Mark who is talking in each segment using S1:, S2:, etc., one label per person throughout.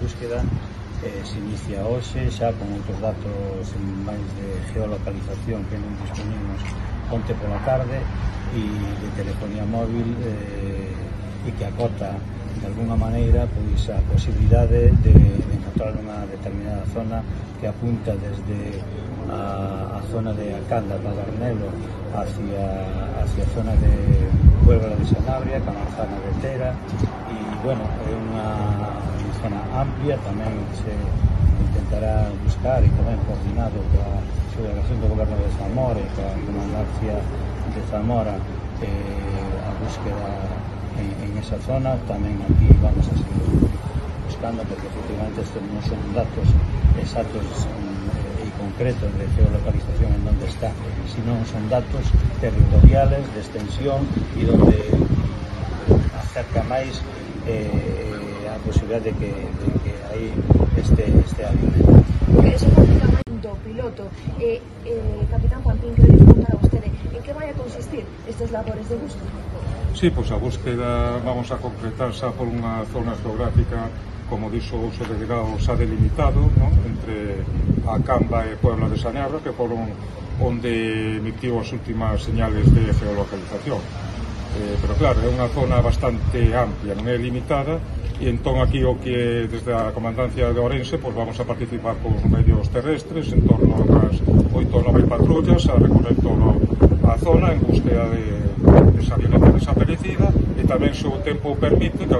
S1: búsqueda se inicia hoxe xa con outros datos máis de geolocalización que non disponimos onte pola tarde e de telefonía móvil e que acota de alguna maneira pois a posibilidade de encontrar unha determinada zona que apunta desde a zona de Acanda, Padernelo hacia a zona de Puebla de Sanabria, Camanzana de Tera e, bueno, é unha zona amplia, tamén se intentará buscar e tamén coordinado coa Delegación do Goberno de Zamora e coa Comandancia de Zamora a búsqueda en esa zona. Tamén aquí vamos a seguir buscando porque efectivamente estos non son datos exactos e concretos de geolocalización en donde está, sino son datos territoriales de extensión e donde acerca máis a posibilidade de que aí este avioneta.
S2: Eso prácticamente do piloto. Capitán Juanpín, quería preguntar a vostede en que vai a consistir estes labores de búsqueda?
S3: Sí, pois a búsqueda vamos a concretar xa por unha zona geográfica, como dixo o seu delegado, xa delimitado, ¿no?, entre a Camba e Puebla de Sanabria, que foron onde emitiu as últimas señales de geolocalización. Pero claro, é unha zona bastante amplia, non é limitada, e entón aquí o que desde a Comandancia de Ourense pois vamos a participar cos medios terrestres en torno a unhas 8 ou 9 patrullas a recorrer toda a zona en búsqueda de esa avioneta desaparecida e tamén, se o tempo permite, que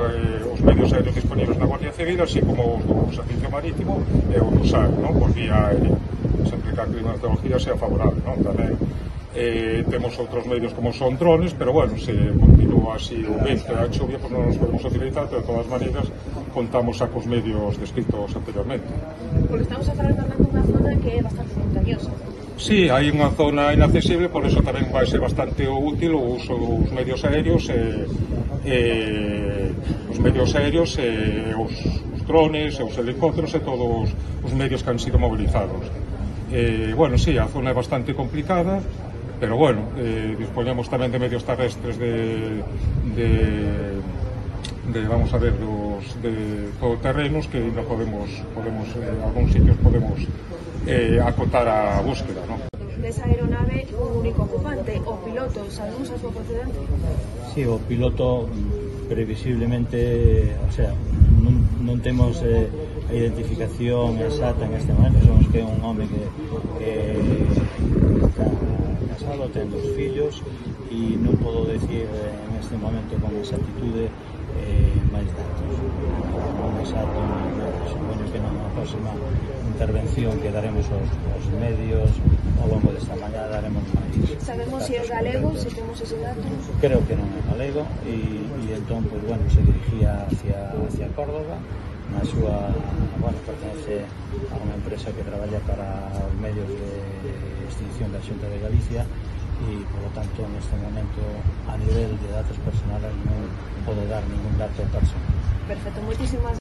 S3: os medios aéreos disponibles na Guardia Civil, así como os do Servicio Marítimo e o do SAR, non, por vía aérea, sempre que a climatología sea favorable, non, tamén temos outros medios como son drones, pero bueno, se continúa así o vento e a chuvia, pues non nos podemos utilizar, pero de todas maneiras contamos a cos medios descritos anteriormente.
S2: Porque estamos a falar tamén dunha zona que é bastante montañosa.
S3: Sí, hai unha zona inaccesible, por eso tamén vai ser bastante útil o uso dos medios aéreos os drones, os helicópteros e todos os medios que han sido movilizados. Bueno, sí, a zona é bastante complicada, pero bueno, dispoñemos tamén de medios terrestres vamos a ver, de todoterrenos que ainda podemos en algúns sitios podemos acotar a búsqueda, ¿no?
S2: Desa aeronave un único ocupante, o piloto, sabemos a súa procedencia?
S1: Sí, o piloto previsiblemente, o sea, non temos a identificación exacta en este momento, somos que é un home que está casado, ten 2 fillos e non podo decir en este momento con exactitude máis datos, non exacto, supoño que na próxima intervención que daremos aos medios ao longo desta mañá daremos máis.
S2: Sabemos se é galego, se temos ese dato?
S1: Creo que non é galego e entón, pues, bueno, se dirigía hacia Córdoba, na súa, bueno, pertenece a unha empresa que traballa para os medios de extinción da Xunta de Galicia e, por lo tanto, neste momento, a nivel de datos personales non podo dar ningún dato personal.
S2: Perfecto, moitísimas